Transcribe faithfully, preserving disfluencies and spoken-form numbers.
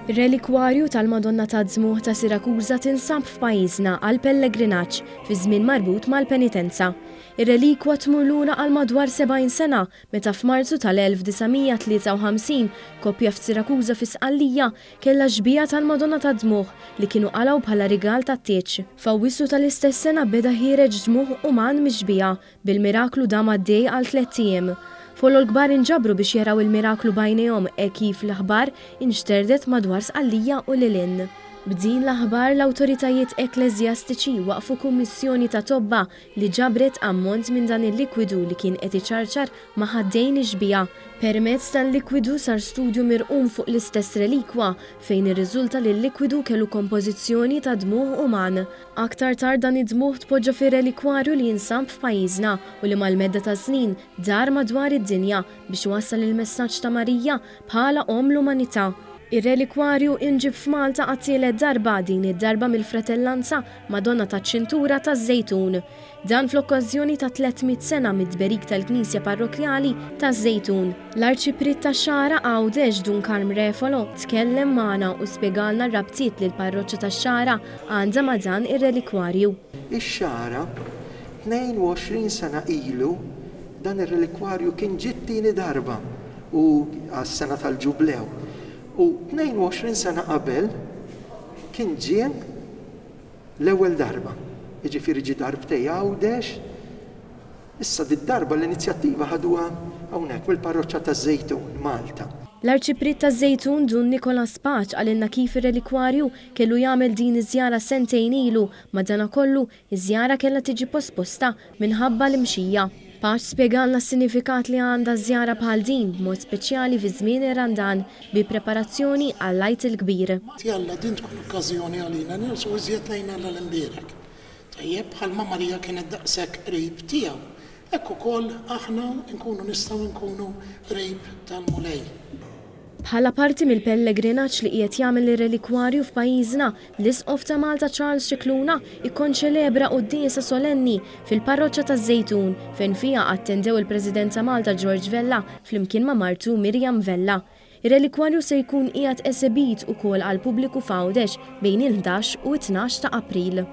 Ir-relikwarju tal-Madonna tad-Dmugħ ta' Sirakuża tinsab f'pajjiżna għal pellegrinaġġ fi żmien marbut mal-penitenza. Ir-relikwa tmur lura għal madwar sebgħin sena meta f'Marzu tal-elf disa' mija tlieta u ħamsin koppja f'Sirakuża fi Sqallija kellha xbieha tal-Madonna tad-Dmugħ li kienu qalgħu bħala rigal tat-tieġ. F'Awwissu tal-istess sena beda ħiereġ dmugħ uman mix-xbieha, bil-miraklu dam għaddej għal tlett ijiem. Folol kbar inġabru biex jaraw il-miraklu b'għajnejhom e kif l-aħbar inxterdet madwar Sqallija u lil hinn. B'din l-aħbar l-awtoritajiet ekkleżjastiċi waqfu kummissjoni ta' tobba li ġabret ammont minn dan il-likwidu li kien qed iċarċar ma' ħaddejn ix-xbieha. Permezz tal-likwidu sar studju mirqum fuq l-istess relikwa fejn irriżulta li l-likwidu kellu kompożizzjoni ta' dmugħ uman. Aktar tard dan id-dmugħ tpoġġa fir-relikwarju li jinsab f'pajjiżna u li mal-medda ta' snin dar madwar id-dinja biex iwassal il-messaġġ ta' Marija bħala omm l-umanità. Ir-relikwarju inġib f'Malta għat-tielet darba, din id-darba mill-fratellanza Madonna taċ-Ċintura taż-Żejtun. Dan fl-okkażjoni ta' tliet mitt sena mid-tberik tal-Knisja Parrokkjali taż-Żejtun. L-Arċipriet tax-Xagħra Għawdex Dun Karm Refalo tkellem magħna u spjegalna r-rabtiet li l-parroċċa tax-Xagħra għandha ma' dan ir-relikwarju. Ix-Xagħra tnejn u għoxrin sena ilu dan ir-relikwarju kien ġie t-tieni darba u għas-sena tal-ġublew. U tnejn u għoxrin sena qabel kien ġie l-ewwel darba. Jiġifieri ġie darbtej Għawdex. Issa did-darba l-inizjattiva ħaduha hawnhekk mill-parroċċa taż-Żejtun, Malta. L-Arċipriet taż-Żejtun Dun Nicolas Pace qalilna kif ir-relikwarju kellu jagħmel din iż-żjara sentejn ilu, madanakollu iż-żjara kellha tiġi posposta minħabba l-imxija. Pace spjegalna s-sinifikat li għandha żjara bħal din b'mod speċjali fi żmien ir-Randan bi preparazzjoni għall-Għid il-Kbir. Jalla din tkun okkażjoni għalina nirsu iżjed lejn Alla l-imbierek. Tajjeb, bħalma Marija kienet daqshekk qrib tiegħu. Hekk ukoll aħna nkunu nistgħu nkunu qrib tal-Mulej. Bħala parti mill-pellegrinaġġ li qiegħed jagħmel ir-relikwarju f'pajjiżna, l-Isqof ta' Malta Charles Scicluna ikkonċelebra quddiesa solenni fil-parroċċa taż-Żejtun fejn fiha attendew il-President ta' Malta George Vella flimkien ma' martu Miriam Vella. Ir-relikwarju se jkun qiegħed esebit ukoll għall-pubbliku f'Għawdex bejn il-ħdax u t-tnax ta' April.